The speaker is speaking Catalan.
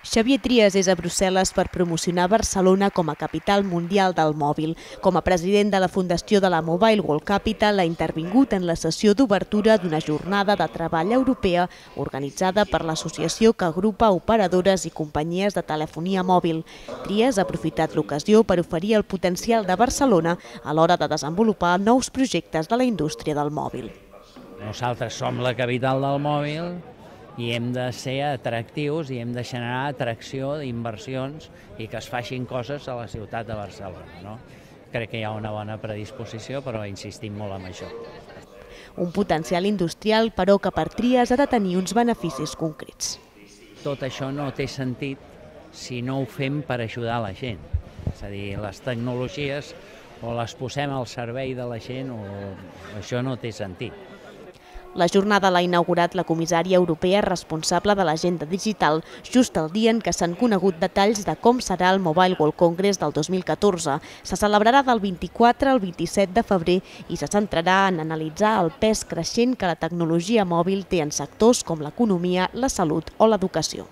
Xavier Trias és a Brussel·les per promocionar Barcelona com a capital mundial del mòbil. Com a president de la Fundació de la Mobile World Capital, ha intervingut en la sessió d'obertura d'una jornada de treball europea organitzada per l'associació que agrupa operadores i companyies de telefonia mòbil. Trias ha aprofitat l'ocasió per oferir el potencial de Barcelona a l'hora de desenvolupar nous projectes de la indústria del mòbil. Nosaltres som la capital del mòbil i hem de ser atractius i hem de generar atracció d'inversions i que es facin coses a la ciutat de Barcelona. Crec que hi ha una bona predisposició, però insistim molt en això. Un potencial industrial, però, que per Trias ha de tenir uns beneficis concrets. Tot això no té sentit si no ho fem per ajudar la gent. És a dir, les tecnologies o les posem al servei de la gent o això no té sentit. La jornada l'ha inaugurat la comissària europea responsable de l'agenda digital just el dia en què s'han conegut detalls de com serà el Mobile World Congress del 2014. Se celebrarà del 24 al 27 de febrer i se centrarà en analitzar el pes creixent que la tecnologia mòbil té en sectors com l'economia, la salut o l'educació.